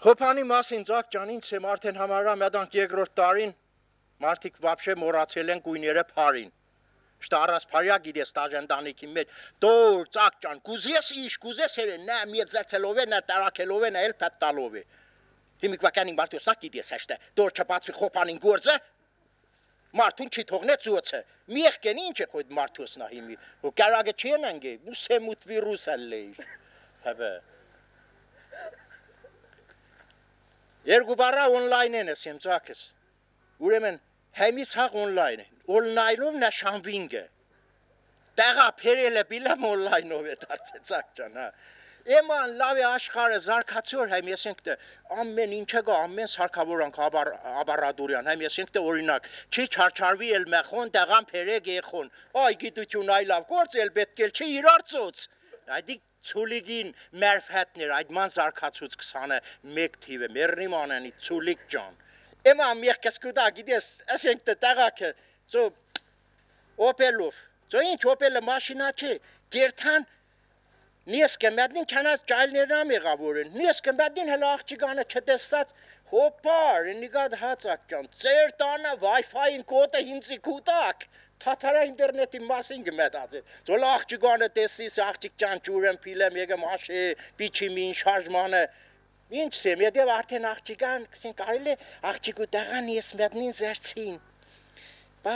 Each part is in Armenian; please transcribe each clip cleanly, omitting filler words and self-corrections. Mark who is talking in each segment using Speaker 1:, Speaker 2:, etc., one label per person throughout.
Speaker 1: Խոփանի մասին Ձակ ջան, ինձ եմ արդեն համարյա մեդանք երկրորդ տարին մարդիկ վաբշե մոռացել են գույները փարին։ Что распаря գիտես տաժանդանիքի մեջ դոր Ձակ ջան, կուզես իշ, կուզես երեն, նա միետ զերծելով է, նա տարակելով է, նա էլ փետ տալով է։ Հիմիկ վականին մարդու սա գիտես հաշտը, դոր չբացվի խոփանին գործը, մարդուն չի թողնեց ուոցը։ Միեղ կեն ինչ է խոյդ մարդուսնա հիմի, ու կարագը չեն անգե, մուսեմուտ վիրուս ալլե իշ, հավը։ Երկու բարա օնլայն են ես եմ Ձակս, ուրեմն Həmis haq online. Online-ով նա շանվինգը։ Տեղա փերելը բիլամ online-ով է դարձել Ձակ ջան, հա։ Էման լավ է աշխարհը զարգացոր հայմ եսենք դե ամեն ինչը գա ամեն սարքավորանք աբարադուրյան հայմ եսենք դե օրինակ չի չարչարվի էլ մեխոն տեղան փերեգ եղոն այ գիտություն այ լավ գործ էլ պետք է չի իրարծոց այդի ցուլիգին մերֆհետներ այդ ման զարգացուց 21 թիվը մեռնի մանանի ցուլիգ ջան Ema miech skuda gides ասենք տեղակը ծո Opel-ով ծո ինչ Opel-ը մաշինա չէ գերթան Նեսկը մեդին չանած ճայլներն եղավորեն Նեսկը մեդին հələ աղջիկանը չտեսած հոպար նիգադ հացակ ջան ծեր տանը Wi-Fi-ին կոդը ինձի կուտակ Թաթարա ինտերնետի մասին գմետած է ծո աղջիկանը տեսիս աղջիկ ջան ջուրեն փիլեմ եկեմ աշե պիչիմին շարժմանը Ինչ սեմ, յետև արդեն աղջիկան, կսին կարելի աղջիկու տեղան ես մետնին զերցին։ Բա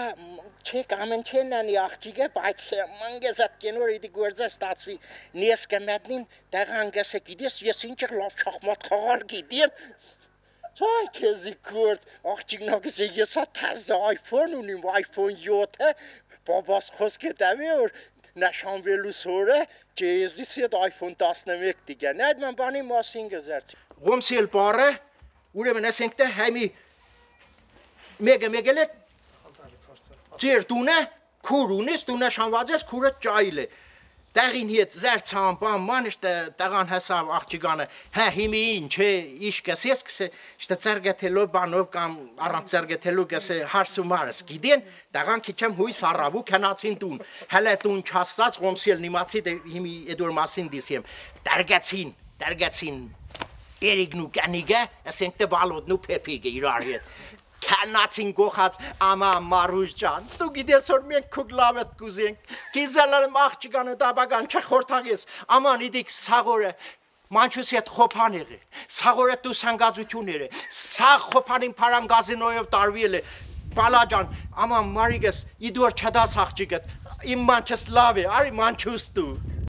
Speaker 1: չեք ամեն չեն անի աղջիկը, բայց մանգեզ այդ կենոր իդի գործը ստացվի, նես կմետնին տեղան գեսը գիդես, ես ինչ եք լավ չախմատ խաղար գիդիեմ։ Ծայ կեզի գործ, աղջիկնա գսի ես թազը iPhone ունիմ, iPhone 7-ը, բաբաս խոսք է տավի որ նաշանվելուս հորը, Չեզից ետ iPhone 11 դիգան, այդ ման բանի մասին գզերցի։ Ղոմսիել պարը, ուրեմն ասենք թե հայմի մեգել է ծեր տունը, քուր ունես, տունը շանված ես, քուրը ճայլ է։ Տեղին հետ զերցան բան ման տեղան հեսավ աղջիկանը, հա հիմի ինչ է, իշ կսես կսե, շտը ծերգեթելով բանով կամ առանց ծերգեթելու կսե հարսումարս գիդեն, տեղան քիչեմ հույս առավու կնացին տուն, հələ տուն չաստած ղոմսիել նիմացի հիմի էդոր մասին դիսիեմ, տերգեցին երիգնու կենիգը, ասենք թե վալոդնու պեպիգը իրար հետ, Կենացին գողած ամա մարուժ ջան, դու գիտես որ մենք քուկ լավ էտ կուզենք, կիզելարım աղջիկանը դաբագան չխորթագես, աման իդիք սաղորը, մանչուս ետ խոպան եղի, սաղորը դու սանգազություներ է, սաղ խոպանին պարան գազինոյով տարվիել է, բալա ջան, աման մարիգես, իդուր չդաս աղջիկըտ, իմ մանչս լավ է, արի մանչուս դու։